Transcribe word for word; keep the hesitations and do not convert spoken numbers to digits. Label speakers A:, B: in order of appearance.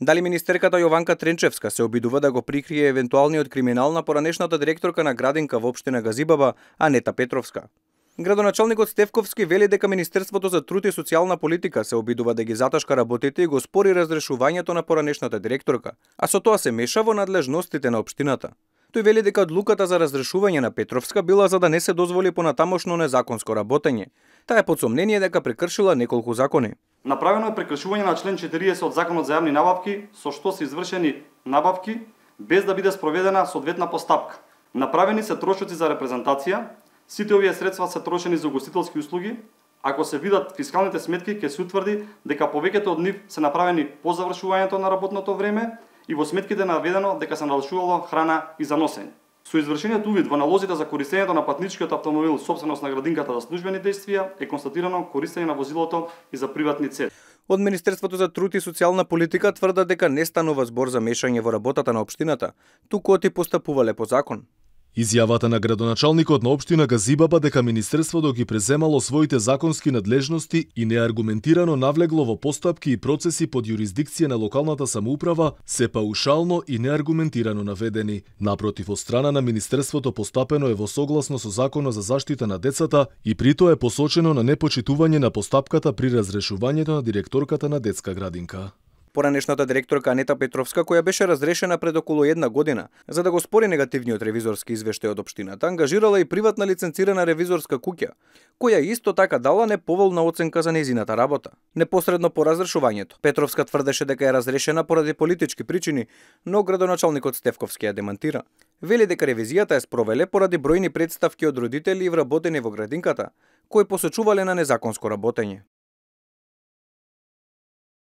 A: Дали министерката Јованка Тренчевска се обидува да го прикрие евентуалниот криминал на поранешната директорка на градинка во општина Газибаба, Анета Петровска? Градоначалникот Стефковски вели дека Министерството за труд и социјална политика се обидува да ги заташка работите и го спори разрешувањето на поранешната директорка, а со тоа се меша во надлежностите на општината. Тој вели дека одлуката за разрешување на Петровска била за да не се дозволи понатамошно незаконско работење. Таа е под сомнение дека прекршила неколку закони.
B: Направено е прекршување на член четириесет од Законот за јавни набавки, со што се извршени набавки без да биде спроведена соодветна постапка. Направени се трошоци за репрезентација. Сите овие средства се трошени за угостителски услуги. Ако се видат фискалните сметки, ќе се утврди дека повеќето од нив се направени по завршувањето на работното време и во сметките наведено дека се налучувало храна и за носење. Со извршениот увид во налозите за користењето на патничкиот автомобил собственост на градинката за службени дејствија е констатирано користење на возилото и за приватни цели.
A: Од Министерството за труд и социјална политика тврдат дека не станува збор за мешање во работата на општината, туку оти постапувале по закон.
C: Изјавата на градоначалникот на општина Газибаба дека Министерството ги преземало своите законски надлежности и неаргументирано навлегло во постапки и процеси под јурисдикција на локалната самоуправа се паушално и неаргументирано наведени. Напротив, од страна на Министерството постапено е во согласно со Законот за заштита на децата и притоа е посочено на непочитување на постапката при разрешувањето на директорката на детска градинка.
A: Поранешната директорка Анета Петровска, која беше разрешена пред околу една година за да го спори негативниот ревизорски извештај од општината, ангажирала и приватна лиценцирана ревизорска куќа, која исто така дала неповолна оценка за нејзината работа. Непосредно по разрешувањето, Петровска тврдеше дека е разрешена поради политички причини, но градоначалникот Стефковски ја демантира. Вели дека ревизијата е спровеле поради бројни претставки од родители и вработени во градинката, кои посочувале на незаконско работење.